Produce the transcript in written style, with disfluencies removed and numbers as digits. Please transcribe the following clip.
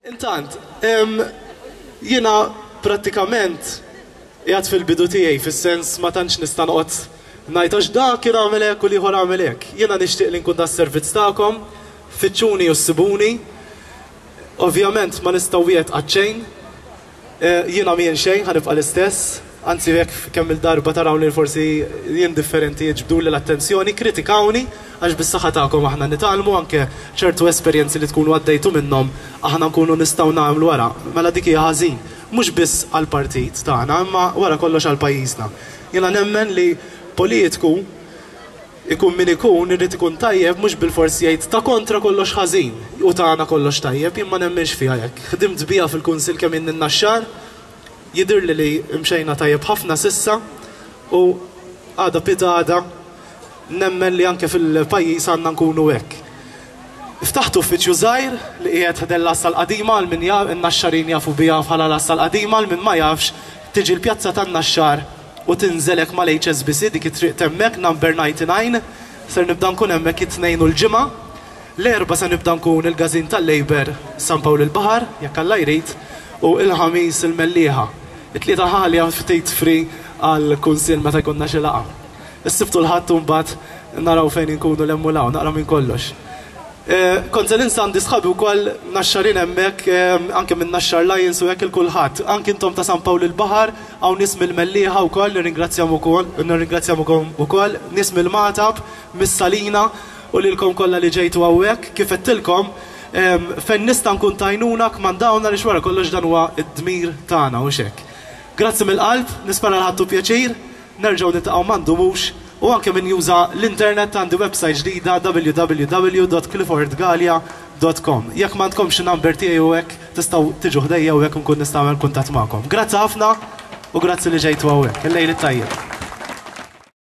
Intant, jiena prattikament qiegħed fil-bidu tiegħi fis-sens ma tantx nista' noqgħod ngħid għax dak kien għamel hekk u l-ieħor għamel hekk. Jiena nixtieq li nkun tas-servizz tagħkom, fittxuni u ssibuni. Ovvjament ma nista' wieħed qatt xejn. Jiena m'jien xejn, ħa nibqa' l-istess. Anzi jekk kemm-il darba tarawni forsi jien differenti iġbduli l-attenzjoni, kkritikawni għax bis-saħħa tagħkom aħna nitgħallmu anke ċertu esperjenzi li tkunu għaddejtu minnhom aħna nkunu nistgħu nagħmlu wara. Mela dik hija ħażin. Mhux biss għall-partit tagħna imma wara kollox għal pajjiżna. Jiena nemmen li politiku Ikun min ikun, irid ikun tajjeb mhux bilfors jgħid ta' kontra kollox ħażin u tagħna kollox tajjeb, jien ma nemminx fiha hekk. Ħdimt biha fil-Kunsill kemm ilni n-Naxxar, jidhirli li mxejna tajjeb ħafna s'issa u għada pitgħada nemmen li anke fil-pajjiż għandna nkunu hekk. Ftaħt uffiċċju żgħir li qiegħed ħdejn l-Għassa l-Qadima għal min jaf, in-Naxxarin jafu biha bħala l-Għassa l-Qadima, għal min ma jafx tiġi l-Pjazza tan-Naxxar u tinżel hekk mal-HSBC dik it-triq t'hemmhekk number 99 ser nibda nkun hemmhekk it-Tnejn u l-Ġimgħa. L-Erbgħa se nibda nkun il-Każin tal-Labour San Pawl il-Baħar jekk Alla jrid u il-Ħamis il-Mellieħa. It-Tlieta ħalja ftit free għall-Kunsill meta jkollna xi laqgħa. Is-Sibt u l-Ħadd imbagħad naraw fejn inkunu 'l hemm u 'l hawn, naqra minn kollox. Kont se ninsa għandi sħabi wkoll Naxxarin hemmhekk, anke minn Naxxar Lions u hekk 'il kulħadd. Anke intom ta' San Pawl il-Baħar, hawn nies mill-Mellieħa wkoll nirringrazzjahom ukoll, nirringrazzjahom ukoll, nies mill-Magħtab, mis-Salina u lilkom kollha li ġejtu hawnhekk. Kif għedtilkom, fejn nista' nkun t'għajnuna kmandawna għaliex wara kollox dan huwa d-dmir tagħna, hux hekk. Grazzi mill-qalb, nispera li ħadtu pjaċir. Nerġgħu niltaqgħu ma ndumux u anke min juża l-internet għandi website ġdida www.cliffordgalea.com. Jekk m'għandkomx in-number tiegħi u hekk tistgħu tiġu ħdejja u hekk nkun nista' nagħmel kuntatt magħkom. Grazzi ħafna u grazzi li ġejtu hawnhekk. Il-lejl it-tajjeb.